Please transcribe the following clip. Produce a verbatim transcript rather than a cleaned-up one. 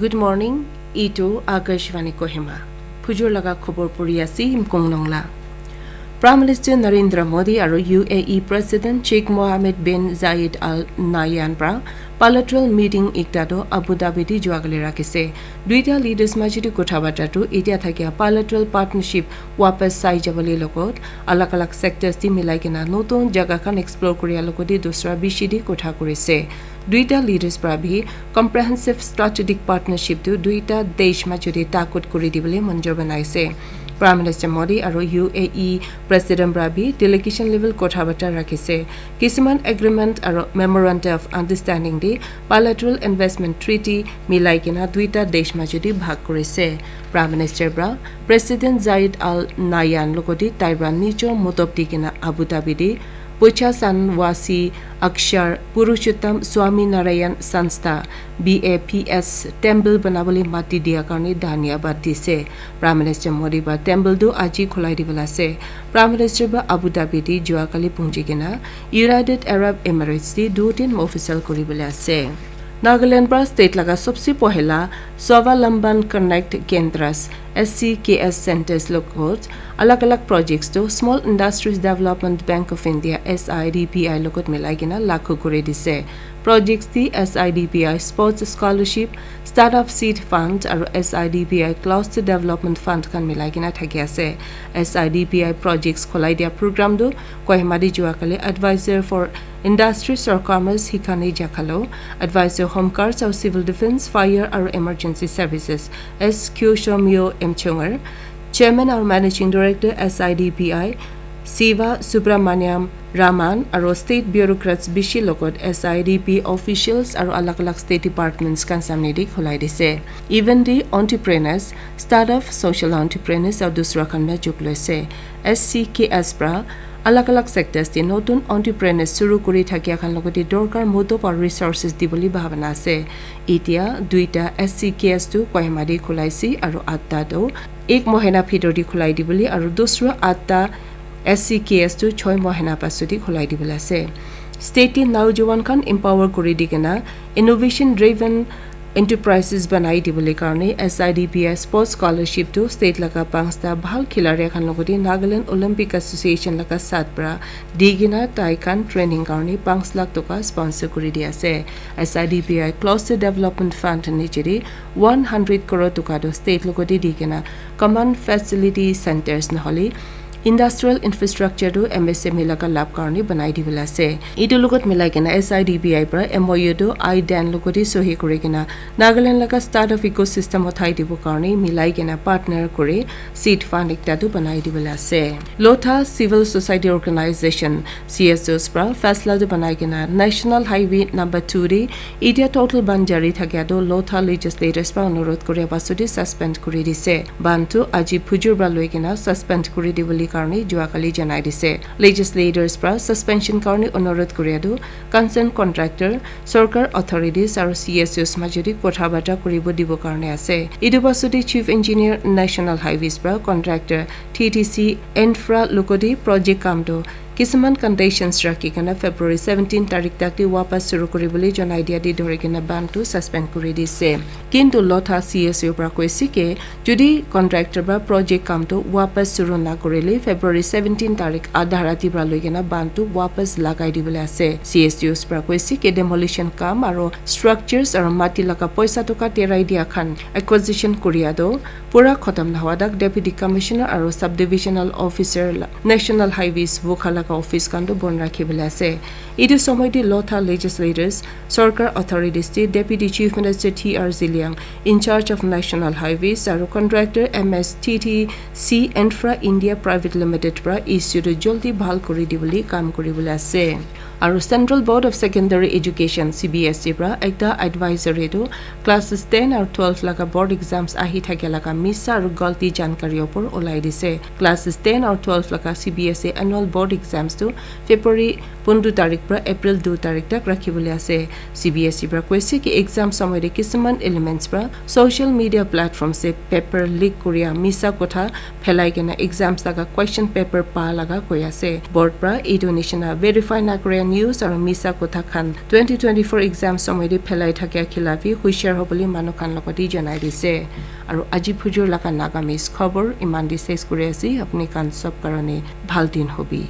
Good morning, itu Akashvani Kohima. Phujur laga khobor puri ase Imkong Nongla. Prime Minister Narendra Modi aru U A E President Sheikh Mohammed bin Zayed Al Nahyan pra bilateral meeting ekta toh Abu Dhabi te jua kali rakhise. Duita leaders major te kotha bata toh etia thakia bilateral partnership wapas sai jabole logot alag alag sectors te milai kena notun jaga khan explore kuria logot te dusra bishi te kotha kurise. Duita leaders pra bhi comprehensive strategic partnership tu duita desh major te takut kuri dibole manjur banaise. Prime Minister Modi aru U A E President pra bhi delegation level kotha bata rakhise. Kisuman agreement aru memorandum of understanding te bilateral investment treaty milai kena duita desh major te bhag kurise. Prime Minister pra President Zayed Al Nahyan logot te tai pra nijor motob di kena Abu Dhabi te Bochasan Wasi Akshar Purushottam Swami Narayan Sanstha B A P S temple banabole mati dia karne dhanyabad dise. Prime Minister Modi pra temple tu aji khulai dibole ase. Prime Minister pra Abu Dhabi te jua kali punji kena United Arab Emirates te dutin official kuribole ase. Nagaland pra state laga sobse pohela Swavalamban Connect Kendras S C K S centers logot alag alag projects to Small Industries Development Bank of India S I D B I logot milai kena lagu kuri dise. Projects te S I D B I Sports Scholarship, Startup Seed Fund aru S I D B I Cluster Development Fund khan milai kena thaki ase. S I D B I projects kholai dia program tu Kohima te jua kali Advisor for Industries or Commerce Hikani Jakhalo, Advisor Home Guards aru Civil Defence, Fire aru Emergency Services S Q Shomyo M Chungar, Chairman aru Managing Director S I D B I Siva Subramaniam Raman aru state bureaucrats bishi logot S I D B officials aru alag alag state departments khan samne te khulai dise. Event te entrepreneurs, startup, social entrepreneurs aru dusra khan na juk loise. S C K S pra alag alag sectors te notun entrepreneurs suru kuri thakia khan logot te dorkar motob aru resources dibole bhabana ase. Etia duita S C K S tu Kohima te khulaise aru atta tu ek mohina bhitor te khulai dibole aru dusra atta S C K S tu choi mohina pasot te khulai dibole ase. State te naujawan khan empower kuri di kena innovation driven enterprises banai dibole karne S I D B I Sports Scholarship tu state laga panchta bhal khilari khan logot te Nagaland Olympic Association laga sat pra di kena tai khan training karne panch lakh toka sponsor kuri di ase. S I D B I Cluster Development Fund niche te one hundred crore toka tu state logot te di kena common facility centers nahole industrial infrastructure tu M S M E laga lab karne banai dibole ase. Etu logot milai kena S I D B I pra M O U tu I dan logot te sohi kuri kena Nagaland laga startup ecosystem uthai dibo karne milai kena partner kuri seed fund ekta tu banai dibole ase. Lotha Civil Society Organization C S Os pra fasla tu banai kena National Highway number two te etia total ban jari thakia tu Lotha legislators pra onurodh kuria pasot te suspend kuri dise. Ban tu aji phujur pra loi kena suspend kuri dibole karne jua kali janai dise. Legislators pra suspension karne onurodh kuria tu concerned contractor, sorkar authorities aru C S Os major te kotha bata kuribo dibo karne ase. Etu pasot te Chief Engineer National Highways pra contractor T T C Infra logot te project kam tu kisuman conditions rakhi kena February seventeen tarik tak te wapas suru kuribole janai dia te dhori kena ban tu suspend kuri dise. Kintu Lotha C S O pra koise ke jodi contractor pra project kam tu wapas suru na kurile February seventeen tarik adha rati pra loi kena ban tu wapas lagai dibole ase. C S Os pra koise ke demolition kam aru structures aru mati laga poisa toka terai dia khan acquisition kuria tu pura khatam nahoa tak Deputy Commissioner aru Subdivisional Officer la-, National Highways Vokha laga office khan tu bon rakhi bole ase. Etu somoy te Lotha legislators, sorkar authorities te Deputy Chief Minister T R Zeliang, in charge of National Highways aru contractor M S T T C Infra India Private Limited pra issue tu jaldi bhal kuri dibole kam kuri bole ase. Aru Central Board of Secondary Education C B S E pra ekta advisory tu classes ten aru twelve laga board exams ahi thakia laga misa aru galti jankari opor ulai dise. Classes ten aru twelve laga C B S E annual board exam exams tu February pondro tarik pra April dui tarik tak rakhibole ase. C B S E pra koise ki exam samay te kisuman elements pra social media platforms te paper leak koria misa kotha phelai kena exams laga question paper pa laga koi ase. Board pra etu nishina verify na koria news aru misa kotha khan twenty twenty-four exam samay te phelai thakia khilafi hushar hobole manu khan logote janai dise. Aru aji phujur laga Nagamese khobor iman te ses kuri ase. Apni khan sob karone bhal din hobi.